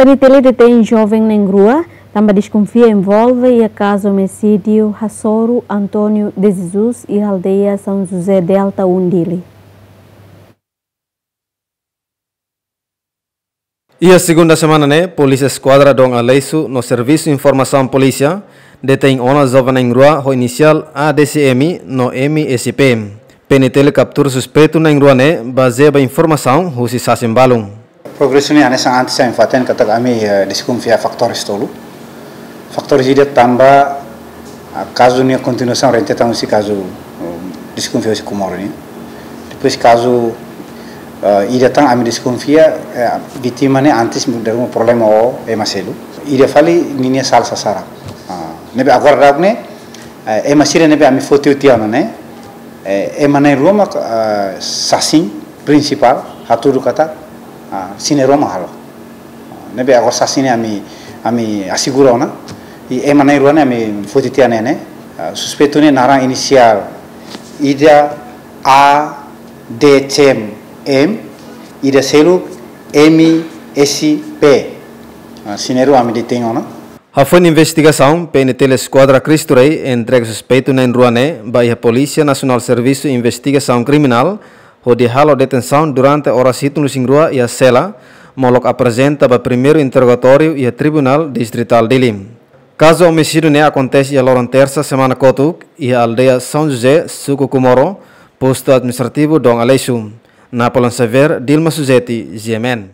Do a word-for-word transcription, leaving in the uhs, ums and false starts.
PNTL detein joven na'in-rua tanba deskonfia envolve iha kazu omisídiu hasoru António de Jesus iha aldeia São José Delta um, Dili. Iha segunda semana ne'e, Polísia Eskuadra Dom Aleixo no Servisu Informasaun Polísia detein ona joven na'in-rua ho inisiál A D C M no M S P. PNTL kaptura suspeitu na'in-rua ne'e bazeia ba informasaun husi sasin balun. Progresu ne'e hanesan antes ami fatin katak ami, eh, deskonfia fatór tolu. Fatór ida tanba, ah, kazu nia kontinuasaun rentetan husi kazu, um, deskonfia husi Comoro nian. Depois kazu, ah, ida tan ami deskonfia, eh, vítima ne'e antes dala ruma problema ho ema seluk. Ida fali ninia sala sasaran. Ah, ne'ebé agora daudaun ne'e, eh, ema sira ne'ebé ami foti tiha ona ne'e, eh, ema na'in-rua mak, ah, sasin prinsipál hatudu katak, ah, sira na'in-rua mak halo. Ne'ebé agora sasin ne'e ami, ami asegura ona. I ema na'in-rua ne'e ami foti tiha ne'e ne'e, ah, suspeitu ne'e naran inisiál ida A D C M, ida seluk M S P. Ah, sira na'in-rua ami detein ona. Hafoin investigasaun, PNTL Eskuadra Cristo Rei entrega suspeitu na'in-rua ne'e ba iha Polísia Nasionál Servisu Investigasaun Kriminál, hodi halo detensaun durante oras hitunruasirua iha sela, molok aprezenta ba primeiru interrogatóriu iha Tribunál Distritál Dili. Kazu omisídiu ne'e akontese iha loron tersa semana kotuk, iha aldeia São José, suku Comoro, postu administrativu Dom Aleixo. Napoleon Xavier, Dilma Suzeti, G M N.